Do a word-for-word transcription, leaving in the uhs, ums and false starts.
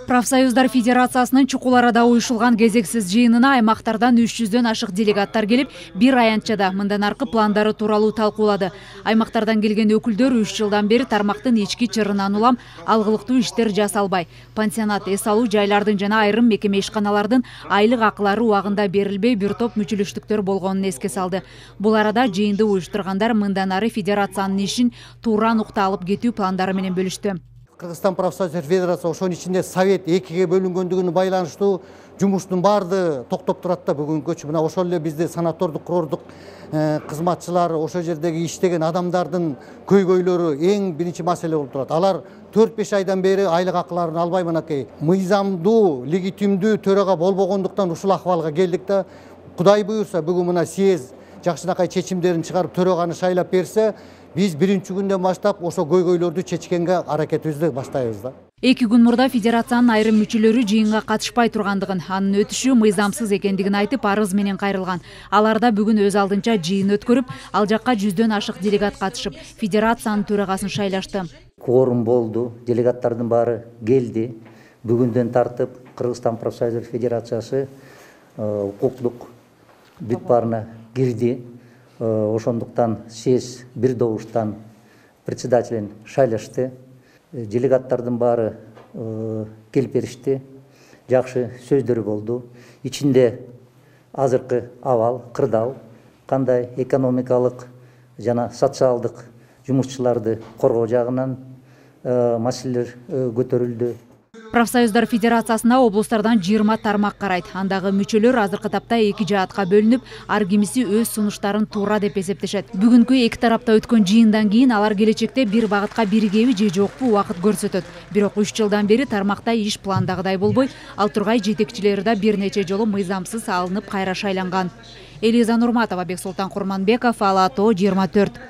Профсоюздар Федерациясынын Чукул Арада уюшулган кезексиз жыйынына аймактардан үч жүздөн ашык делегаттар келип, бир аянтчада мындан аркы пландары тууралуу талкуулады. Аймактардан келген өкүлдөр үч жылдан бери тармактын ички чырынан улам алгылыктуу иштер жасалбай, пансионат, эс алуу жайлардын жана айрым мекеме ишканалардын айлык акылары убагында берилбей бир топ мүчүлүштүктөр болгонун эске салды. Бул арада жыйынды уюштургандар мындан ары федерациянын ишин туура нукта алып кетүү пландары менен бөлүштү. Кыргызстан профсоюздар Федерациясы ошонун ичинде совет экиге бөлүнгөндүгүнө байланыштуу жумуштун баарды токтоп турат да бүгүнкүчө. Мына ошол эле бизди санатордук курордук кызматчылар, ошол жердеги иштеген адамдардын көйгөйлөрү эң биринчи маселе болуп турат. Алар төрт беш айдан бери айлык акыларын албай мынакей мыйзамдуу, легитимдүү төрага болбогондуктан ушул акыбалга келдик да. Кудай буюрса бүгүн мына съезд жакшынакай чечимдерин чыгарып төрөганы шайлап берсе, биз биринчи күндөн баштап ошо көйгөйлөрдү чечкенге аракетибизди баштайбыз да. Эки күн мурда федерациянын айрым мүчөлөрү жыйынга катышпай тургандыгын, анын өтүшү мыйзамсыз экендигин айтып, арыз менен кайрылган. Аларда бүгүн өз алдынча жыйын өткөрүп, ал жакка жүздөн ашык делегат катышып, федерациянын төрагасын шайлашты. Кворум болду, делегаттардын баары келди. Бүгүндөн тартып Кыргызстан профсоюздар Федерациясы укуктук бүт баарына кирди. Ошондуктан съезд бир добуштан председателин шайлашты. Делегаттардын баары келип беришти. Жакшы сөздөр болду. Ичинде азыркы абал, кырдаал, кандай экономикалык жана социалдык жумушчуларды коргоо жагынан маселелер көтөрүлдү. Профсоюздар Федерациясына облустардан жыйырма тармак карайт. Андагы мүчөлөр азыркы тапта эки жаатка бөлүнүп, ар кимиси өз сунуштарын туура деп эсептешет. Бүгүнкү эки тарапта өткөн жыйындан кийин алар келечекте бир багытка биригеби же жокпу убакыт көрсөтөт. Бирок үч жылдан бери тармакта иш пландагыдай болбой, ал тургай жетекчилери да бир нече жолу мыйзамсыз алынып кайра шайланган. Элиза Нурматова, Бексултан Курманбеков, Ала То, жыйырма төрт.